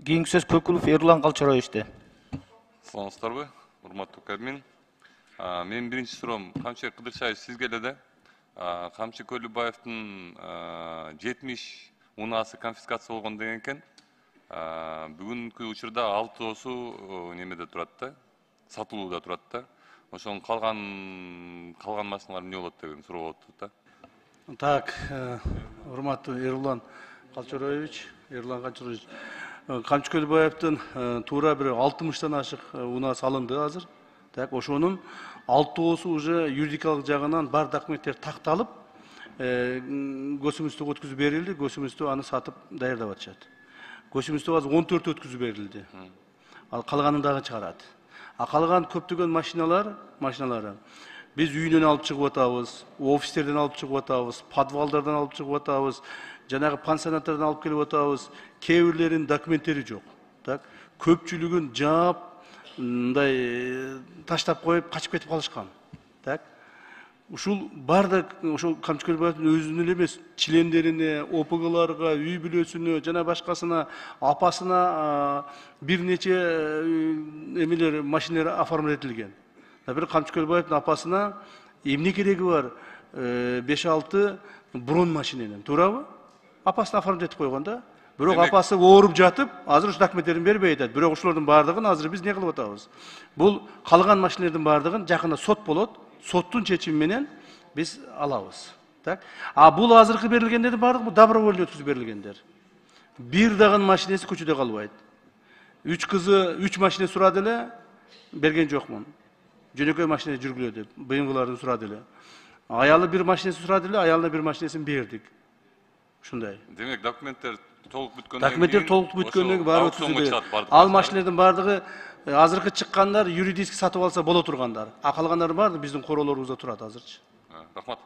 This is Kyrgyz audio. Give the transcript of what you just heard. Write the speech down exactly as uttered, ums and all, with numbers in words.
Кийинки сөз Көкүлов Эрлан Калчароевичте. Саламатсыздарбы, урматтуу Кабмин. Менин биринчи суроом Камчы Кыдыршаевич сизге эле да. Камчы Көлүбаевдин жетимиш унаасы конфискация болгон деген экен. Бүгүнкү учурда алтоосу немеде турат да, сатылууда турат да. Ошонун калган калган машиналар эмне болот деген суроо болуп атат да. Так, урматтуу Эрлан Калчароевич, Эрлан Калчароевич, Камчы Көлүбаевдин туура бир алтымыштан ашык унаасы алынды азыр. Так, ошонун алтоосу уже юридикалык жагынан бар документтер такталып, көчүмүстүгө өткүзүп берилди, көчүмүстү аны сатып даярдап атышат. Көчүмүстү азыр он төрт өткүзүп берилди. Ал калганын дагы чыгарат. А калган көптөгөн машиналар, машиналары биз үйүнөн алып чыгып атабыз, офистерден алып чыгып атабыз, подвалдардан алып чыгып атабыз, жанагы пансионаттардан алып келип атабыз. Кээ бирлеринин документтери жок. Так, көпчүлүгүн жаап, мындай таштап коюп качып кетип калышкан. Так. Ушул бардык ошол Камчы Көлүбаевдин өзүнүн эле эмес, чилендерине, о пэ гэларга, үй бүлөсүнө жана башкасына, апасына бир нече эмелер, машиналар оформлять этилген. Например, Камчы Көлүбаевдин апасына эмне кереги бар? беш алты брон машиненен, туурабы? Апасына оформлять этип койгон да. Бирок апасы ооруп жатып, азыр ушу документтерин бербей атат. Бирок ушулардын бардыгын азыр биз не кылып атабыз? Бул калган машиналардын бардыгын жакында сот болот. Соттун чечими менен биз алабыз. Так? А бул азыркы берилгендердин бардыгы добровольно өткүзүп берилгендер. Бир дагы машинеси көчөдө калбайт. Үч кызы үч машина сурады эле, берген жокмун. Жөнөкөй машина жүргүлө деп, бэ эм гэлардын сурады эле. Аялы бир машинеси сурады эле, аялына бир машинесин бердик. Ушундай. Демек, документтер толук бүткөндөн кийин документтер толук бүткөндөн кийин баары өткүзүп берилет. Ал машиналардын бардыгы азыркы чыккандар юридически сатып алса боло тургандар. А калгандардын баары биздин короолорубузда турат азырчы. Рахмат.